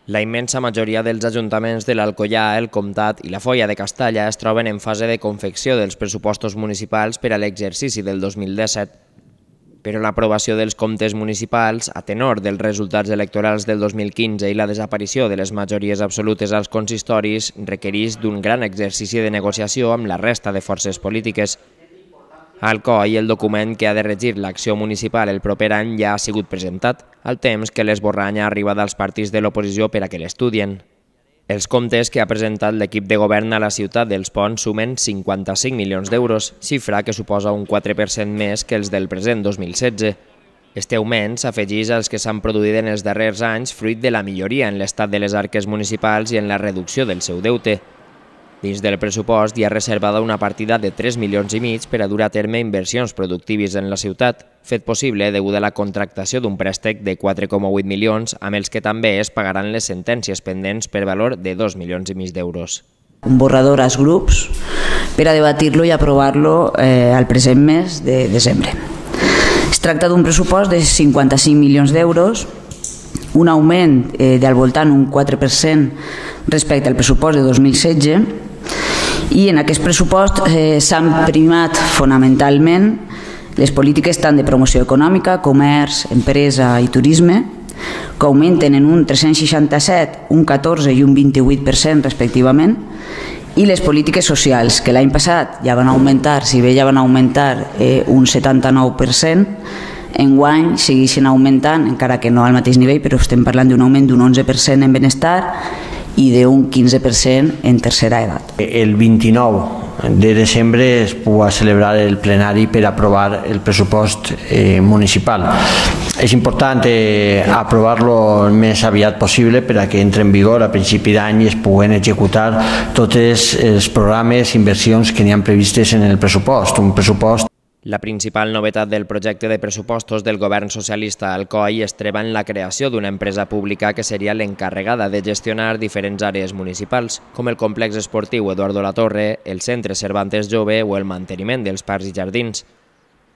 La immensa majoria dels ajuntaments de l'Alcoià, el Comtat i la Foia de Castalla es troben en fase de confecció dels pressupostos municipals per a l'exercici del 2017. Però l'aprovació dels comptes municipals, a tenor dels resultats electorals del 2015 i la desaparició de les majories absolutes als consistoris, requereix d'un gran exercici de negociació amb la resta de forces polítiques. Al COI, el document que ha de regir l'acció municipal el proper any ja ha sigut presentat, al temps que l'esborrany ha arribat als partits de l'oposició per a que l'estudien. Els comptes que ha presentat l'equip de govern a la ciutat dels Ponts sumen 55 milions d'euros, xifra que suposa un 4% més que els del present 2016. Este augment s'afegeix als que s'han produït en els darrers anys fruit de la milloria en l'estat de les arques municipals i en la reducció del seu deute. Dins del pressupost hi ha reservada una partida de 3,5 milions per a dur a terme inversions productives en la ciutat, fet possible degut a la contractació d'un préstec de 4,8 milions, amb els que també es pagaran les sentències pendents per valor de 2,5 milions d'euros. Un borrador als grups per a debatir-lo i aprovar-lo al present mes de desembre. Es tracta d'un pressupost de 55 milions d'euros, un augment del voltant un 4% respecte al pressupost de 2016, i en aquest pressupost s'han primat fonamentalment les polítiques tant de promoció econòmica, comerç, empresa i turisme, que augmenten en un 367, un 14 i un 28% respectivament, i les polítiques socials, que l'any passat ja van augmentar, si bé ja van augmentar un 79%, enguany segueixen augmentant, encara que no al mateix nivell, però estem parlant d'un augment d'un 11% en benestar i d'un 15% en tercera edat. El 29 de desembre es podrà celebrar el plenari per aprovar el pressupost municipal. És important aprovar-lo el més aviat possible per a que entre en vigor a principi d'any i es puguen executar tots els programes i inversions que n'hi ha previstes en el pressupost. Un pressupost. La principal novetat del projecte de pressupostos del govern socialista al COI es troba en la creació d'una empresa pública que seria l'encarregada de gestionar diferents àrees municipals, com el complex esportiu Eduardo Latorre, el centre Cervantes Jove o el manteniment dels parcs i jardins.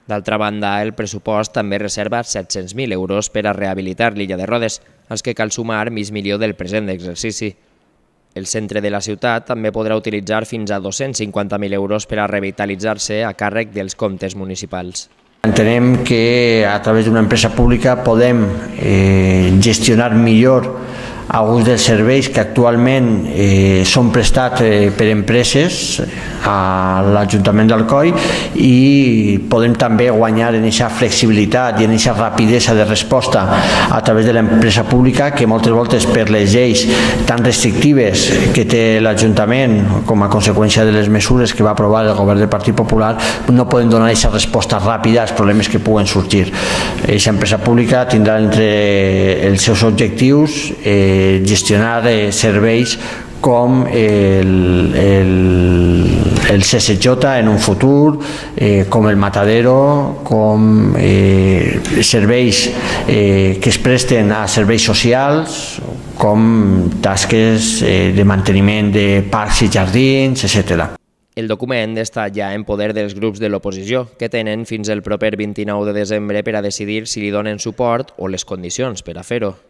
D'altra banda, el pressupost també reserva 700.000 euros per a rehabilitar l'illa de Rodes, als que cal sumar mig milió del present exercici. El centre de la ciutat també podrà utilitzar fins a 250.000 euros per a revitalitzar-se a càrrec dels comptes municipals. Entenem que a través d'una empresa pública podem gestionar millor alguns dels serveis que actualment són prestats per empreses a l'Ajuntament d'Alcoi i podem també guanyar en aquesta flexibilitat i en aquesta rapidesa de resposta a través de l'empresa pública que moltes voltes per les lleis tan restrictives que té l'Ajuntament com a conseqüència de les mesures que va aprovar el govern del Partit Popular no poden donar aquesta resposta ràpida als problemes que puguen sorgir. Aquesta empresa pública tindrà entre els seus objectius gestionar serveis com el CSJ en un futur, com el Matadero, com serveis que es presten a serveis socials, com tasques de manteniment de parcs i jardins, etc. El document està ja en poder dels grups de l'oposició, que tenen fins el proper 29 de desembre per a decidir si li donen suport o les condicions per a fer-ho.